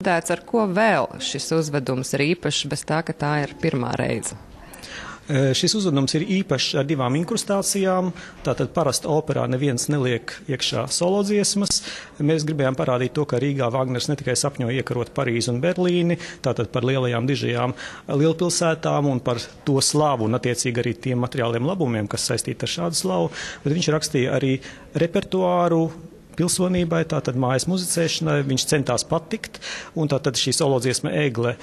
Ar ko vēl šis uzvedums ir īpašs, bez tā, ka tā ir pirmā reize? Šis uzvedums ir īpašs ar divām inkrustācijām. Tātad parasti operā neviens neliek iekšā solo dziesmas. Mēs gribējām parādīt to, ka Rīgā Vagners ne tikai sapņoja iekarot Parīzi un Berlīni, tātad par lielajām dižajām lielpilsētām un par to slavu un attiecīgi arī tiem materiāliem labumiem, kas saistīti ar šādu slavu, bet viņš rakstīja arī repertuāru pilsonībai, tātad mājas muzicēšanai, viņš centās patikt, un tātad šī solo dziesma Egle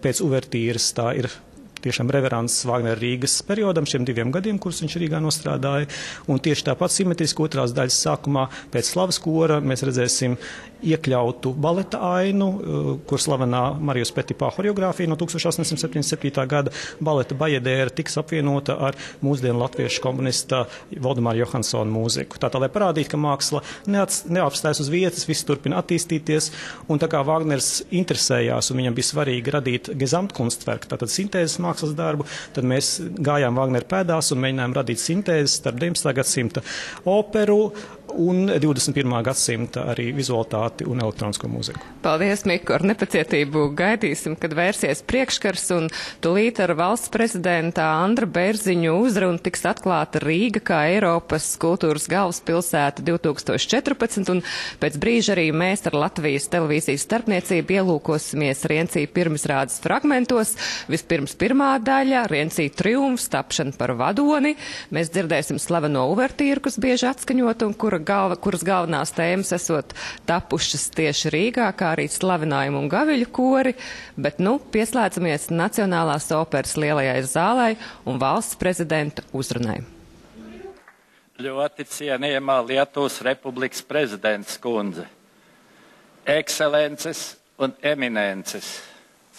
pēc uvertīras tā ir tiešām reverants Vagnera Rīgas periodam, šiem 2 gadiem, kurus viņš Rīgā nostrādāja, un tieši tāpat simetriski otrās daļas sākumā pēc slavas kora mēs redzēsim iekļautu baleta ainu, kur slavenā Marijus Petipā horeogrāfija no 1877. gada baleta Bajadēra tiks apvienota ar mūsdienu latviešu komponista Valdemāra Johansona mūziku. Tātad, lai parādītu, ka māksla neapstājas uz vietas, viss turpina attīstīties, un tā kā Vagners interesējās un viņam bija svarīgi radīt Gesamtkunstwerk, tātad sintēzes mākslas darbu, tad mēs gājām Vagnera pēdās un mēģinājām radīt sintēzes starp 19. gadsimta operu un 21. gadsimta arī vizualitāti un elektronisko mūziku. Paldies, Miku, ar nepacietību gaidīsim, kad vērsies priekškars un tūlīt ar valsts prezidenta Andra Bērziņu uzrunu tiks atklāta Rīga kā Eiropas kultūras galvaspilsēta 2014, un pēc brīža arī mēs ar Latvijas televīzijas starpniecību ielūkosimies Riencī pirmizrādes fragmentos. Vispirms pirmā daļa, Riencī triumfs, tapšana par vadoni. Mēs dzirdēsim slaveno uvertīru, kas bieži atskaņot un kuras galvenās tēmas esot tapušas tieši Rīgā, kā arī slavinājumi un gaviļu kori, bet pieslēdzamies Nacionālās operas lielajai zālai un valsts prezidenta uzrunai. Ļoti cienījamā Lietuvas Republikas prezidents kundze, ekscelences un eminences,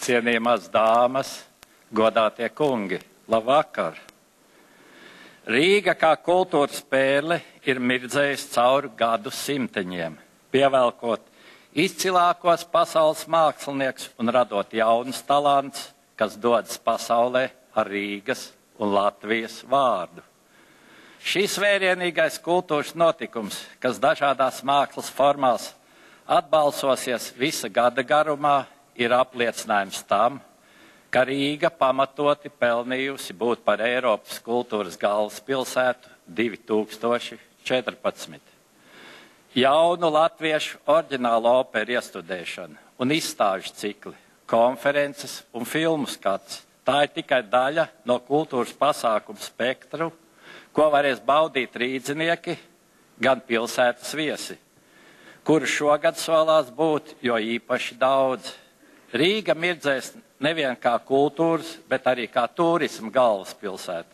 cienījamās dāmas, godātie kungi, labvakar! Rīga kā kultūras pērle ir mirdzējusi cauri gadu simteņiem, pievelkot izcilākos pasaules mākslinieks un radot jaunus talants, kas dodas pasaulē ar Rīgas un Latvijas vārdu. Šis vērienīgais kultūras notikums, kas dažādās mākslas formās atbalsosies visa gada garumā, ir apliecinājums tam, ka Rīga pamatoti pelnījusi būt par Eiropas kultūras galvaspilsētu 2014. Jaunu latviešu oriģinālu operu iestudēšana un izstāžu cikli, konferences un filmu skats. Tā ir tikai daļa no kultūras pasākumu spektru, ko varēs baudīt rīdzinieki, gan pilsētas viesi, kuru šogad solās būt jo īpaši daudz. Rīga mirdzēs nevien kā kultūras, bet arī kā turisma galvaspilsēta,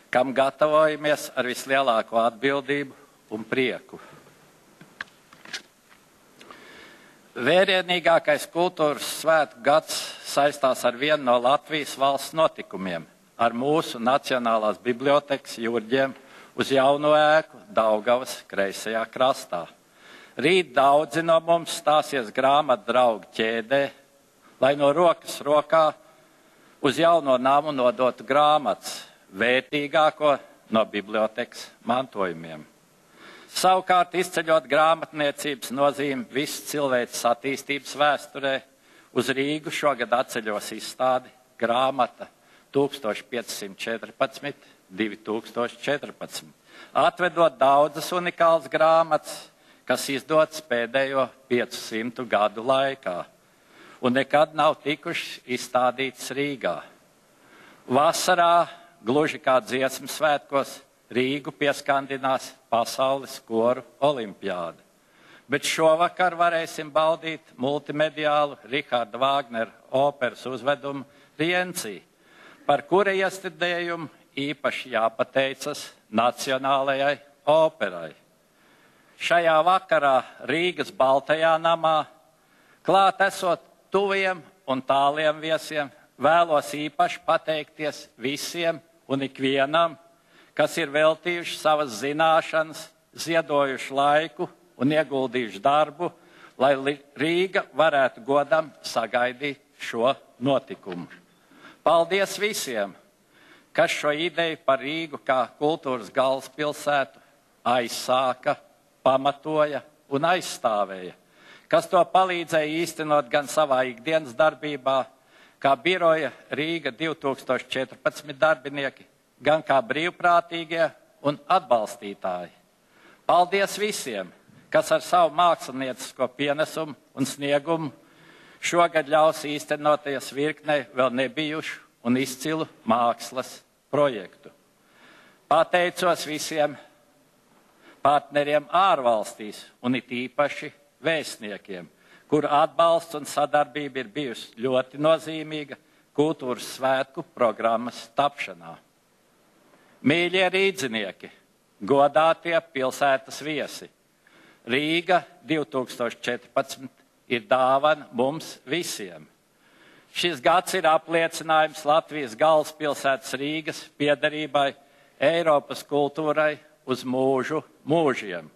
kam gatavojamies ar vislielāko atbildību un prieku. Vērienīgākais kultūras svētku gads saistās ar vienu no Latvijas valsts notikumiem, ar mūsu Nacionālās bibliotekas Jurģiem uz jauno ēku Daugavas kreisajā krastā. Rīt daudzi no mums stāsies grāmatu draugu ķēdē, lai no rokas rokā uz jauno namu nodotu grāmatas, vērtīgāko no bibliotekas mantojumiem. Savukārt, izceļot grāmatniecības nozīmi visu cilvēces attīstības vēsturē, uz Rīgu šogad atceļos izstādi grāmata 1514–2014, atvedot daudzas unikālas grāmatas, kas izdotas pēdējo 500 gadu laikā un nekad nav tikušas izstādītas Rīgā. Vasarā, gluži kā dziesmu svētkos, Rīgu pieskandinās pasaules koru olimpiāda. Bet šovakar varēsim baudīt multimediālu Riharda Vāgnera operas uzvedumu Riencī, par kura iestudējumu īpaši jāpateicas Nacionālajai operai. Šajā vakarā Rīgas Baltajā namā, klāt esot tuviem un tāliem viesiem, vēlos īpaši pateikties visiem un ikvienam, kas ir veltījuši savas zināšanas, ziedojuši laiku un ieguldījuši darbu, lai Rīga varētu godam sagaidīt šo notikumu. Paldies visiem, kas šo ideju par Rīgu kā kultūras galvaspilsētu aizsāka, pamatoja un aizstāvēja, kas to palīdzēja īstenot gan savā ikdienas darbībā, kā biroja Rīga 2014 darbinieki, gan kā brīvprātīgie un atbalstītāji. Paldies visiem, kas ar savu māksliniecisko pienesumu un sniegumu šogad ļaus īstenoties virknei vēl nebijušu un izcilu mākslas projektu. Pateicos visiem partneriem ārvalstīs un it īpaši vēstniekiem, kuru atbalsts un sadarbība ir bijusi ļoti nozīmīga kultūras svētku programmas tapšanā. Mīļie rīdzinieki, godātie pilsētas viesi, Rīga 2014 ir dāvana mums visiem. Šis gads ir apliecinājums Latvijas galvaspilsētas Rīgas piederībai Eiropas kultūrai uz mūžu mūžiem.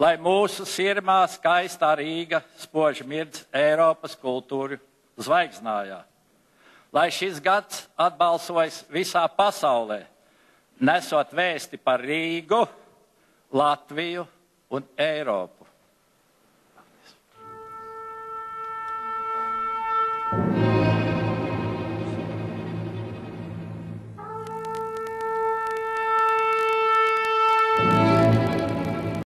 Lai mūsu sirmā skaistā Rīga spoži mirdz Eiropas kultūru zvaigznājā. Lai šis gads atbalsojas visā pasaulē, nesot vēsti par Rīgu, Latviju un Eiropu.